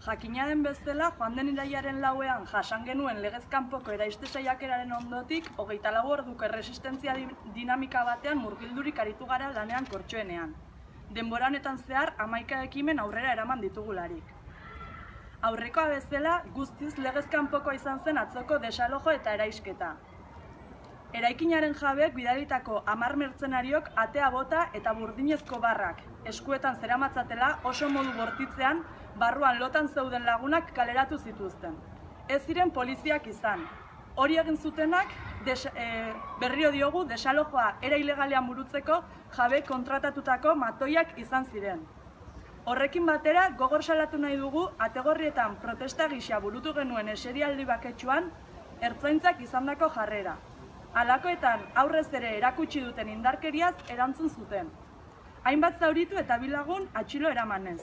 Jakina den bezala, joan den irailaren lauean jasan genuen legez kanpoko eraiste saiakeraren ondotik 24 orduko erresistentzia dinamika batean murgildurik aritu gara lanean Kortxoenean. Denbora honetan zehar 11 ekimen aurrera eraman ditugularik. Aurrekoa bezala, guztiz legez kanpokoa izan zen atzoko desalojo eta eraisketa. Eraikinaren jabeek bidalitako 10 mertzenariok atea bota eta burdinezko barrak eskuetan zeramatzatela oso modu bortitzean barruan lotan zeuden lagunak kaleratu zituzten. Ez ziren poliziak izan. Hori egin zutenak berrio diogu desalojoa era ilegalean burutzeko jabe kontratatutako matoiak izan ziren. Horrekin batera, gogor salatu nahi dugu Ategorrietan protesta gisa burutu genuen eserialdi baketsuan ertzaintzak izandako jarrera. Halakoetan aurrez ere erakutsi duten indarkeriaz erantzun zuten. Hainbat zauritu eta 2 lagun atxilo eramanez.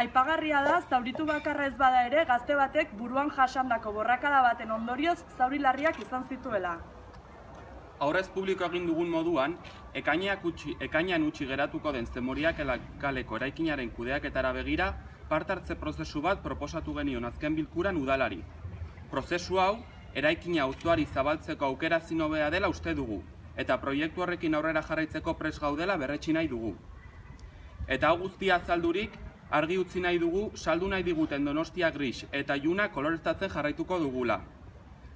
Aipagarria da, zauritu bakarra ez bada ere, gazte batek buruan jasandako borrakada baten ondorioz zauri larriak izan zituela. Aurrez publiko egin dugun moduan, ekainean utzi geratuko den Zemoriak kaleko eraikinaren kudeaketara begira, parte hartze prozesu bat proposatu genion azken bilkuran udalari. Prozesu hau, eraikina auzoari zabaltzeko aukera zinobea dela uste dugu, eta proiektu horrekin aurrera jarraitzeko prest gaudela berretsi nahi dugu. Eta hau guztia azaldurik, argi utzi nahi dugu saldu nahi diguten Donostia gris eta iluna koloreztatzen jarraituko dugula.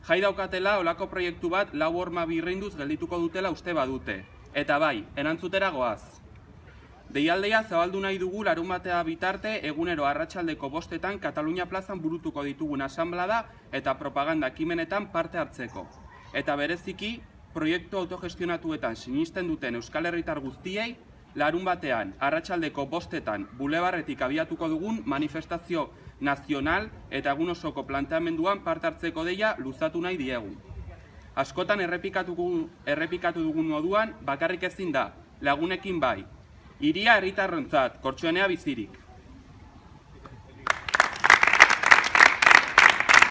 Jai daukatela olako proiektu bat 4 horma birreinduz geldituko dutela uste badute. Eta bai, erantzutera goaz. Deialdea zabaldu nahi dugu larunbatea bitarte egunero arratsaldeko 5etan Katalunia plazan burutuko ditugun asanblada eta propaganda ekimenetan parte hartzeko. Eta bereziki, proiektu autogestionatuetan sinisten duten Euskal Herritar guztiei, larunbatean arratsaldeko 5etan bulebarretik abiatuko dugun manifestazio nazional eta egun osoko planteamenduan parte hartzeko deia luzatu nahi diegu. Askotan errepikatu dugun moduan bakarrik ezin da, lagunekin bai. Hiria herritarrentzat, Kortxoenea bizirik.